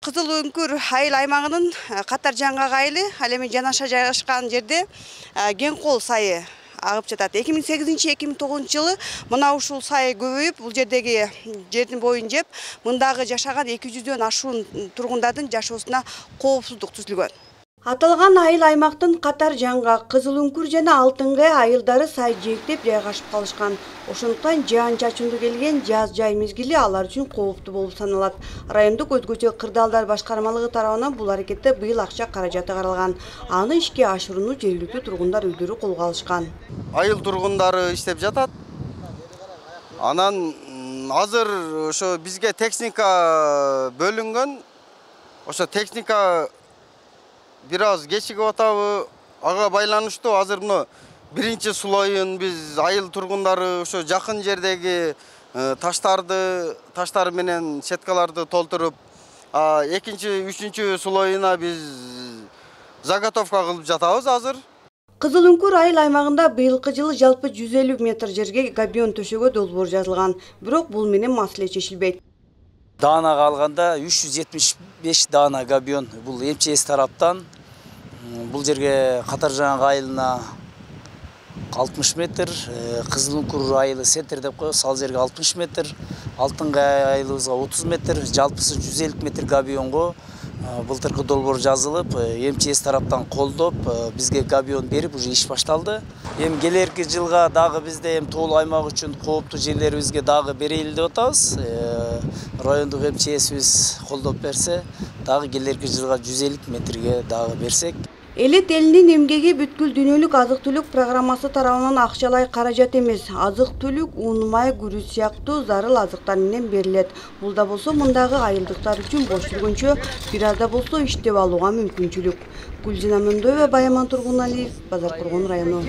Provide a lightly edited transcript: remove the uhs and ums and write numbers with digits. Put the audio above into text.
Кызыл Үңкүр айыл аймагынын Катар жаңгак айылы, ал эми жанаша жайгашкан жерде Кеңкол сайы агып жатат. 2008-2009 жылы мына ушул сай көбөйүп, бул жердеги жердин боюн жеп, мындагы жашаган 200дөн ашуун тургундардын жашоосуна коопсуздук түзүлгөн. Аталган айыл аймактын Катар жаңгак, Кызыл Үңкүр жана Алтын-Кая айылдары сай жээктеп жайгашып калышкан. Ошондуктан жаан-чачындуу келген жаз жай мезгили алар үчүн кооптуу болуп саналат. Райондук өзгөчө кырдаалдар башкармалыгы тарабынан бул аракетте быйыл акча каражаты каралган. Аны ишке ашырууну жергиликтүү тургундар өздөрү колго алышкан. Айыл тургундары иштеп жатат. Анан азыр ошо бизге техника бөлүнгөн. Ошо техника бир аз кечигип атабы, ага байланыштуу азыр мына биринчи слоюн биз айыл тургундары ошо жакын жердеги таштар менен сеткаларды толтуруп, экинчи, үчүнчү слоюна биз заготовка кылып жатабыз азыр. Кызыл Үңкүр айыл аймагында быйылкы жылы жалпы 150 метр жерге габион төшөгө долбоор жазылган. Бирок бул менен маселе чечилбейт. Даанага алганда 375 даана габион бул МЧС тараптан, бул жерге Катар жаңгак айылына 60 метр, Кызыл Үңкүр айылы центр деп коебуз, ал жерге 60 метр, Алтын-Кая айылыбызга 30 метр, жалпысы 150 метр габионго былтыркы долбоор жазылып, МЧС тараптан колдоп, бизге габион берип, уже иш башталды. Эми келерки жылга дагы бизде тоолуу аймак үчүн кооптуу жерлерибизге дагы берели деп атабыз. Райондук МЧСибиз колдоп берсе, дагы келерки жылга 150 метрге дагы берсек. Элет элинин эмгеги бүткүл дүйнөлүк азык-түлүк программасы тарабынан акчалай каражат эмес. Азык-түлүк, un, май, күрүч сыяктуу зарыл азыктар менен берилет. Бул да болсо мындагы айылдыктар үчүн бош жүргөнчө бир аз да болсо иштеп алууга мүмкүнчүлүк. Гүлжина Мөндөева, Баяман Тургуналиев, Базар Тургун району.